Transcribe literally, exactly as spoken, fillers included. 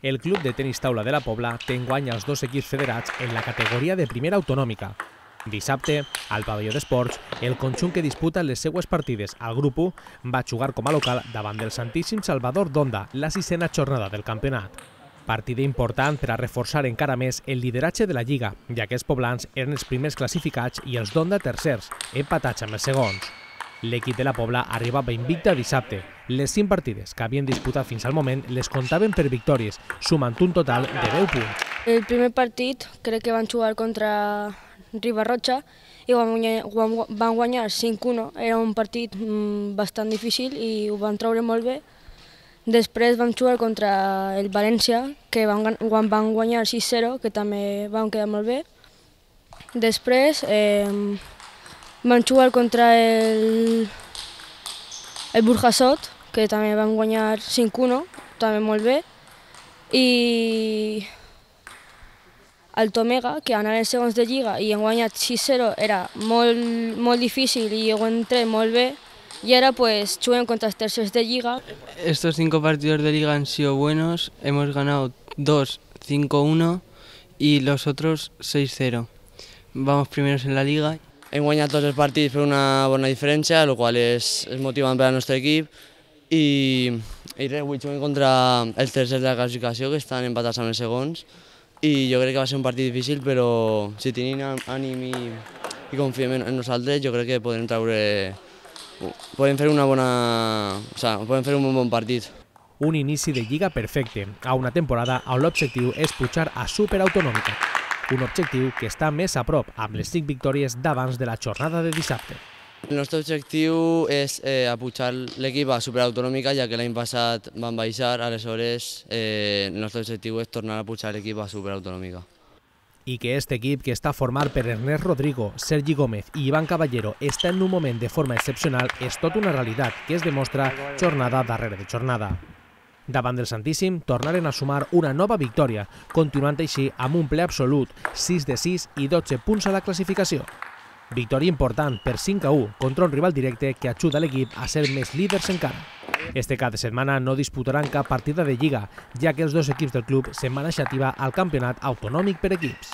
El club de tenis taula de la Pobla té enguany els dos equips federats en la categoria de primera autonòmica. Dissabte, al pavelló d'esports, el conjunt que disputa les seues partides al grup u va jugar com a local davant del Santíssim Salvador d'Onda, la sisena jornada del campionat. Partida important per a reforçar encara més el lideratge de la Lliga, ja que els poblans eren els primers classificats i els d'Onda tercers, empatats amb els segons. L'equip de la Pobla arribava invicta dissabte. Les cinc partides que havien disputat fins al moment les comptaven per victòries, sumant un total de deu punts. El primer partit crec que van jugar contra Ribarroja i van guanyar cinc a u. Era un partit bastant difícil i ho van treure molt bé. Després vam jugar contra el València, que van, van guanyar sis a zero, que també van quedar molt bé. Després eh, van jugar contra el, el Burjasot, que també van guanyar cinc a u, també molt bé. I el Tomega, que anaven segons de Lliga i han guanyat sis a zero, era molt, molt difícil i ho han tret molt bé. Y ahora pues juegan contra los terceros de Liga. Estos cinco partidos de Liga han sido buenos, hemos ganado dos, cinco a uno y los otros seis a cero. Vamos primeros en la Liga. Hem guanyat tots els partits per una bona diferència, el qual és, és motivant per al nostre equip. I, i res, avui juguem contra els tercers de la classificació, que estan empatats amb els segons. I jo crec que va ser un partit difícil, però si tenim ànim i, i confiem en nosaltres, jo crec que podem treure... Podem fer una bona... O sigui, podem fer un bon partit. Un inici de Lliga perfecte, a una temporada on l'objectiu és pujar a superautonòmica. Un objectiu que està més a prop amb les cinc victòries d'abans de la jornada de dissabte. El nostre objectiu és eh, pujar l'equip a superautonòmica, ja que l'any passat van baixar, aleshores eh, el nostre objectiu és tornar a pujar l'equip a superautonòmica. I que este equip, que està format per Ernest Rodrigo, Sergi Gómez i Iván Caballero, està en un moment de forma excepcional és tot una realitat que es demostra jornada darrere de jornada. Davant del Santíssim tornaren a sumar una nova victòria, continuant així amb un ple absolut, sis de sis i dotze punts a la classificació. Victòria important per cinc a u contra un rival directe que ajuda l'equip a ser més líders encara. Este cap de setmana no disputaran cap partida de Lliga, ja que els dos equips del club se'n van a Xàtiva al campionat autonòmic per equips.